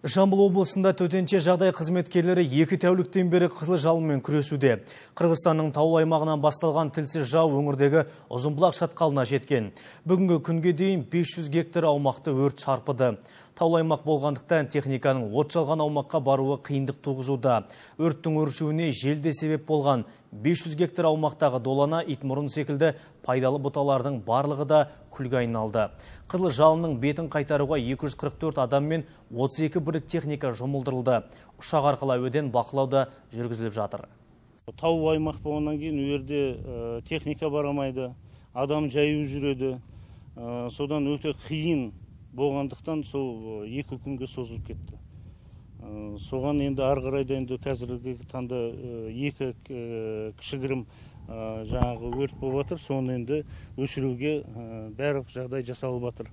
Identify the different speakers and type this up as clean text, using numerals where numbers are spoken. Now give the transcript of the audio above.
Speaker 1: Жамбыл облысында төтенше жағдай қызметкерлері 2 тәуліктен бері қызыл жалынмен күресуде. Қырғызстанның таулы аймағынан басталған тілсіз жау өңірдегі Ұзынбұлақ шатқалына жеткен. Бүгінгі күнге дейін 500 гектар аумақты өрт шарпыды. Таулы аймақ болғандықтан техниканың от жалған аумаққа баруы қиындық туғызуда. Өрттің өршуіне желде себеп болған 500 гектар аумақтағы долана, итмұрын секілді пайдалы бұталардың барлығы да күлге айналды. Қызыл жалынның бетін қайтаруға 244 адам мен 32 бірлік техника жұмылдырылды. Ұшақ арқылы әуеден бақылауда жүргізіліп жатыр.
Speaker 2: Таулы аймақ болғаннан кейін өрде техника барамайды, адам жаяу жүреді. Содан өте қиын болғандықтан сол 2 күнге созылып кетті. Соған енді ары қарайда енді қазіргі таңда 2 кішігірім жаңағы өрт болып жатыр. Соны енді өшіруге барлық жағдай жасалып жатыр.